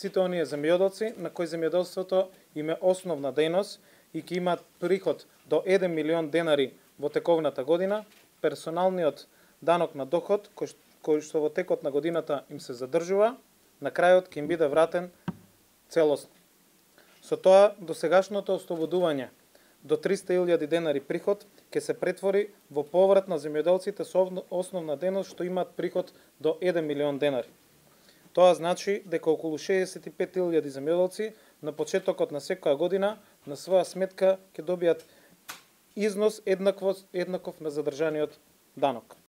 сите оние земјоделци на кои земјоделството им е основна дејност и ќе имаат приход до 1 милион денари во тековната година, персоналниот данок на доход кој што во текот на годината им се задржува, на крајот ќе им биде вратен целосно. Со тоа, досегашното ослободување до 300.000 денари приход ќе се претвори во поврат на земјоделците со основна дејност што имаат приход до 1 милион денари. Тоа значи дека околу 65.000 земјоделци на почетокот на секоја година на своја сметка ќе добијат износ еднаков на задржаниот данок.